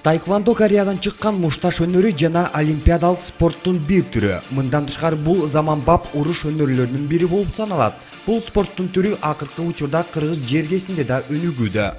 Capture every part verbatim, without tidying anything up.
Taekwondo Кореядан чыккан мушташ өнөрү жана олимпиадалык спорттун бир түрү. Мындан тышкары бул заманбап уруш өнөрлөрүнүн бири болуп саналат. Бул спорттун түрү акыркы учурда кыргыз жергесинде да өнүгүүдө.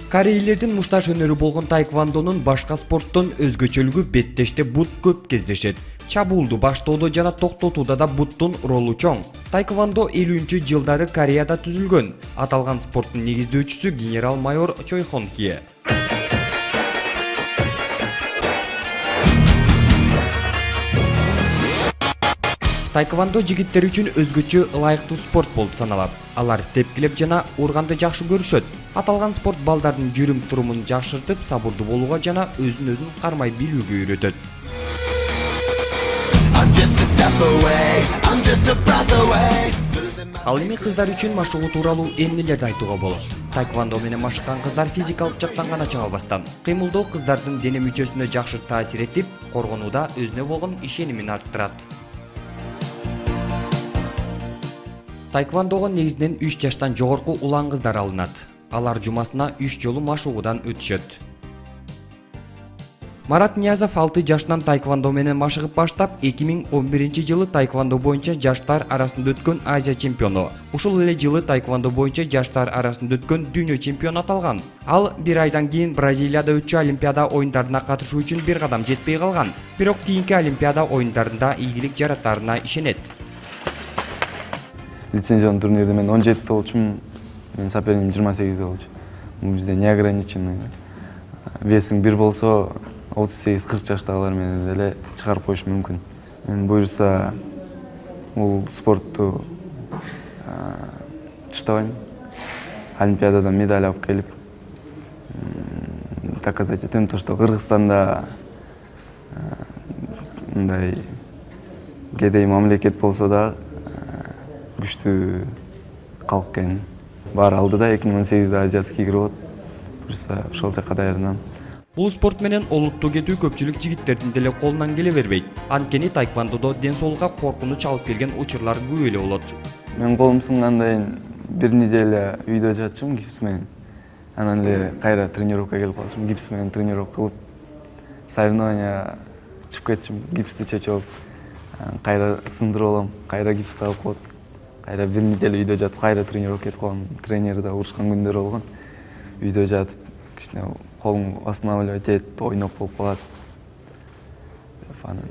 Корейлердин мушташ өнөрү болгон таэквондонун башка спорттон өзгөчөлүгү беттеште бут көп кездешет. Чабуулду баштоодо жана токтотууда да буттун ролу чоң. Таэквондо элүүнчү жылдары Кореяда түзүлгөн. Аталган спорттун негиздөөчүсү генерал-майор Чой Хон Хье. Таэквондо жигиттер үчүн өзгөчө ылайыктуу спорт болуп саналат. Алар тепкилеп жана урганды жакшы көрүшөт. Аталган спорт балдардын жүрүм турумун жакшыртып, сабырдуу болууга жана өзүн өзүн кармай билүүгө үйрөтөт. Ал эми кыздар үчүн машыгуу тууралуу эмнелерди айтууга болот? Таэквондо менен машыккан кыздар физикалык жактан гана чагылбастан, кыймылдоо кыздардын дене мүчөсүнө жакшы таасир этип, коргонууда өзүнө болгон ишенимин арттырат. Таэквондого негизинен үч жаштан жогорку улан кыздар алынат. Алар жумасына үч жолу машыгуудан өтүшөт. Марат Ниязов алты жаштан таэквондо менен машыгып баштап, эки миң он биринчи жылы таэквондо боюнча жаштар арасында өткөн Азия чемпиону. Ушул эле жылы таэквондо боюнча жаштар арасында өткөн дүйнө чемпиону аталган. Ал бир айдан кийин Бразилияда өтчү Олимпиада оюндарына катышуу үчүн бир кадам жетпей калган. Бирок кийинки Олимпиада оюндарында ийгилик жаратарына ишенет. Лицензиялык турнирде мен он жетиде болчумун, менин сопернигим жыйырма сегизде болчу. Бул бизде не ограниченный. Весиң бир болсо, отуз сегиз кырк жаштагылар менен деле чыгарып коюш мүмкүн. Мен буюрса бул спортту таштабайм. Олимпиададан медаль алып келип доказать этем, то что Кыргызстанда мындай кедей мамлекет болсо да күчтүү калк экен. Бар алды да эки миң он сегизде азиатский кирип атат. Буюрса ошол жака даярданам. Бул спорт менен олуттуу кетүү көпчүлүк жигиттердин деле колунан келе бербейт. Анткени таэквондодо ден соолукка коркунуч алып келген учурлар көп эле болот. Мен колум сынгандан бир неделя үйдө жатчым гипс менен. Анан эле кайра тренировкага келип калчумун, гипс менен тренировка кылып, соревнования чыгып кетчим, гипсти чечип алып, кайра сындырып алам, кайра гипс тагып коет. Кайра бир неделя үйдө жатып, кайра тренировка кетип калам. Тренер да урушкан күндөр болгон. Үйдө жатып, кичине колум восстанавливать этип, ойноп болуп калат. Анан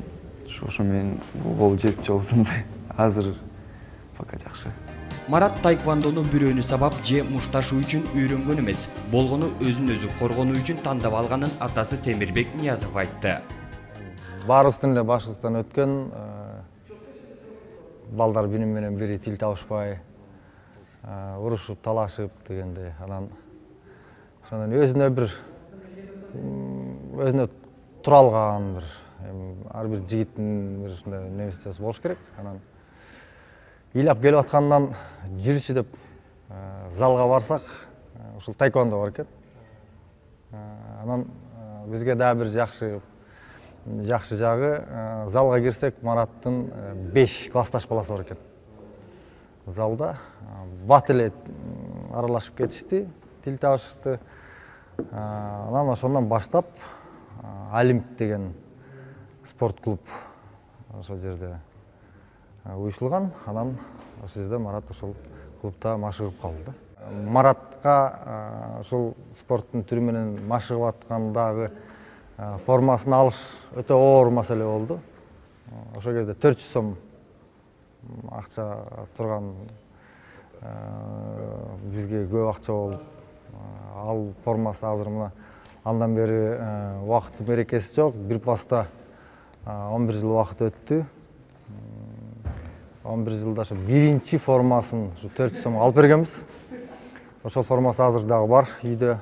ошо менен гол жети жолсун. Азыр пока жакшы. Марат таэквондону бирөөнү сабап же мушташуу үчүн үйрөнгөн эмес, болгону өзүн өзү коргонуу үчүн тандап алганын атасы Темирбек Ниязов айтты. Баарыбыздын эле башыбыздан өткөн, балдар бири менен бири тил табышпай, урушуп, талашып дегенде, анан ошондон өзүнө бир өзүнө тура алган бир ар бир жигиттин бир ушундай немеси болуш керек. Анан ыйлап келип аткандан жүрүчү деп залга барсак, ушул таэквондо бар экен. Анан бизге дагы бир жакшы жакшы жагы, залга кирсек, Мараттын беш классташ баласы бар экен. Залда бат эле аралашып кетишти, тил табышты. Анан ошондон баштап Олимп деген спорт клуб ошол жерде уюштулган. Анан ошол жерде Марат ошол клубда машыгып калды. Маратка ошол спорттун түрү менен машыгып аткандагы формасын алыш өтө оор маселе болду. Ошол кезде төрт жүз сом акча турган бизге көп акча болуп, ал формасы азыр мына андан бери убакыт берекеси жок. Бир паста он бир жыл убакыт өттү. он бир жылда ошо биринчи формасын ушу төрт жүз сомго алып бергенбиз. Ошол формасы азыр дагы бар үйдө.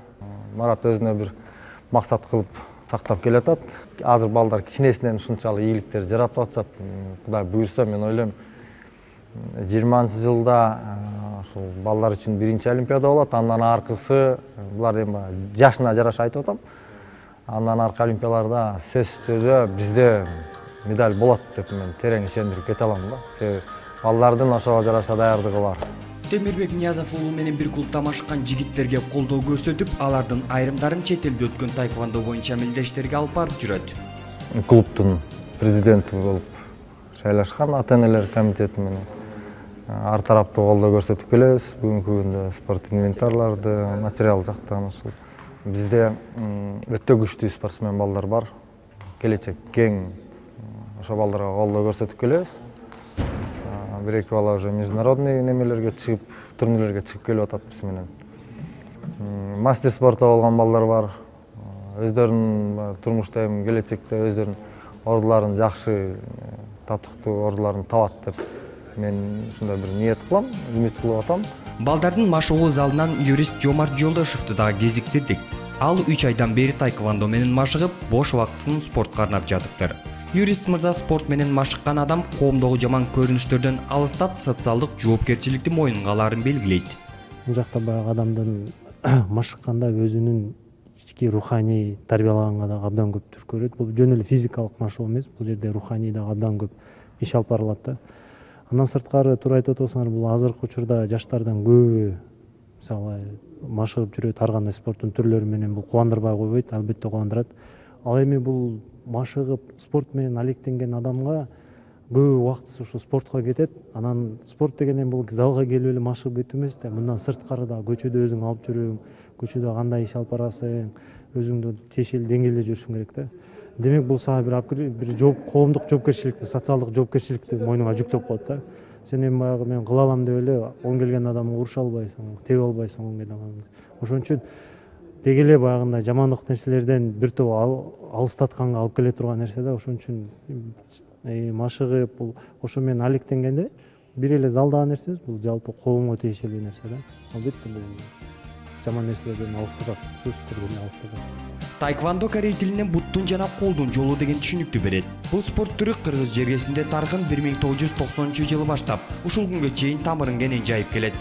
Марат өзүнө бир максат кылып сактап келатат. Азыр балдар кичинесинен ушунчалык ийгиликтер жаратып атышат. Кудай буйрса, мен ойлойм жыйырманчы жылда ошол балдар үчүн биринчи Олимпиада болот. Андан аркысы булар эми жашына жараша айтып атам. Андан аркы олимпияларда сөзсүз түрдө бизде медаль болот деп мен терең ишендирип кете алам да. Себеби балдардын ошого жараша даярдыгы бар. Темирбек Ниязов уулу менен бир клубда машыккан жигиттерге колдоо көрсөтүп, алардын айрымдарын чет элде өткөн тайквондо боюнча мелдештерге алып барып жүрөт. Клубдун президенти болуп шайлашкан ата-энелер комитети менен ар тараптуу колдоо көрсөтүп келебиз. Бүгүнкү күндө спорт инвентарларды, материал жактан ушул бизде өтө күчтүү спортсмен балдар бар. Келечек кең. Ошо балдарга колдоо көрсөтүп келебиз. Бир-эки бала уже международный немелерге чыгып, турнирлерге чыгып келип атат биз менен. Мастер спортто болгон балдар бар. Өздөрүнүн турмушта эми келечекте өздөрүнүн ордуларын жакшы, татыктуу ордуларын табат деп мен ушундай бир ниет кылам, үмүт кылып атам. Балдардын машыгуу залынан юрист Жомарт Жолдошевду дагы кезиктирдик. Ал үч айдан бери тайквондо менен машыгып, бош убактысын спортко арнап жатыптыр. Юрист мырза спорт менен машыккан адам коомдогу жаман көрүнүштөрдөн алыстап, социалдык жоопкерчиликти мойнунга аларын белгилейт. Бул жакта баягы адамдын машыкканда өзүнүн ички руханий тарбиялаганга да абдан көп түрткү берет. Бул жөн эле физикалык машыгуу эмес, бул жерде руханий да абдан көп иш алып барылат да. Андан сырткары туура айтып атасыңар, бул азыркы учурда жаштардан көбү мисалы машыгып жүрөт, ар кандай спорттун түрлөрү менен, бул кубандырбай койбойт, албетте кубандырат. Ал эми бул машыгып спорт менен алектенген адамга көп убактысы ушу спортко кетет. Анан спорт дегенен бул залга келип эле машыгып кетүү эмес да, мындан сырткары да көчөдө өзүң алып жүрүң, көчөдө кандай иш алып барасың, өзүңдү тиешелүү деңгээлде жүрүшүң керек да. Демек бул сага бир бир жооп коомдук жоопкерчиликти, социалдык жоопкерчиликти мойнуңа жүктөп коет да. Сен эми баягы мен кыла алам деп эле оң келген адамды уруша албайсың, тебе албайсың оң келген адамды. Ошон үчүн деги эле баягындай жамандык нерселерден бир топ алыстатканга алып келе турган нерсе да. Ошон үчүн машыгып, бул ошо менен алектенгенде бир эле залдагы нерсе эмес, бул жалпы коомго тиешелүү нерсе да. Албетте бул жаман нерселерден алыстатат, сөзсүз түрдө алыстатат. Тайквондо корей тилинен буттун жана колдун жолу деген түшүнүктү берет. Бул спорт түрү кыргыз жергесинде тарыхын бир миң тогуз жүз токсонунчу жылы баштап, ушул күнгө чейин тамырын кенен жайып келет.